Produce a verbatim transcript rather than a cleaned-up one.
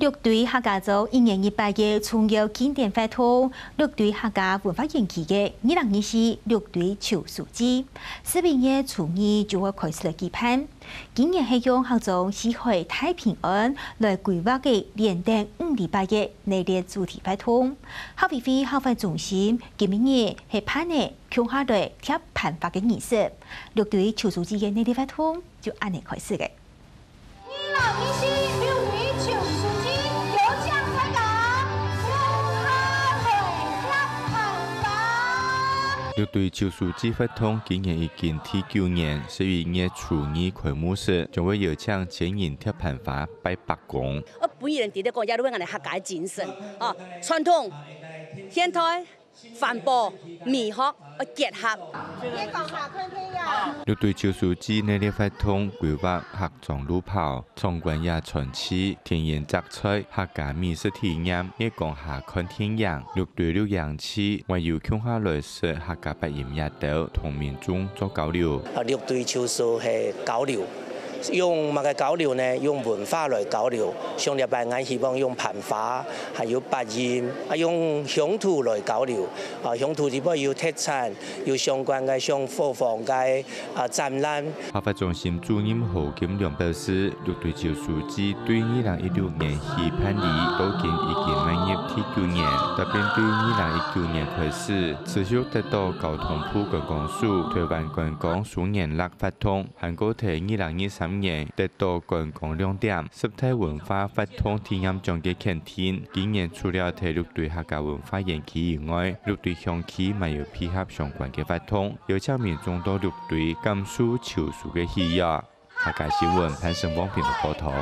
六堆客家庄一年一擺个重要慶典活動，六堆客家文化園區个二零二四六堆秋收祭，十一月初二就會開始來舉辦。今年係用客庄四海大平安來規劃个連等五禮拜个系列主題活動。客委會客發中心今晡日係辦理共下來貼盤花个儀式，六堆秋收祭个系列活動就恁呢開始个。 二零二四六堆秋收祭，邀請大家共下來貼盤花。六堆秋收祭活動今年已經第九年，十一月初二開幕式，將會邀請千人貼盤花拜伯公。呃，本地人直接講，也係𠊎等客家个精神，哦，傳統、現代、 環保、美學个結合。六堆秋收祭系列活動規劃客庄路跑、場館野餐區、田園摘菜、客家美食體驗、月光下看電影、六堆六營祭，還有共下來食客家八音夜兜，同民眾做交流。啊，六堆秋收係交流， 用麼个交流呢？用文化來交流。像這擺，𠊎希望用盤花，還有八音，啊，用鄉土來交流。啊，鄉土裡背有特產，有相關个像伙房个，啊，展覽。客發中心主任何金良表示，六堆秋收祭對二零一六年起辦理，到今已經邁入第九年，特別對二零一九年開始，持續得到交通部觀光署、台灣觀光雙元lakh發通， 還過在二零二三年得到觀光亮點、十大文化活動體驗獎个肯定。今年除了在六堆客家文化園區以外，六堆鄉區還有配合相關个活動，邀請民眾到六堆感受秋收个喜悅。客家新聞潘勝旺編輯報導。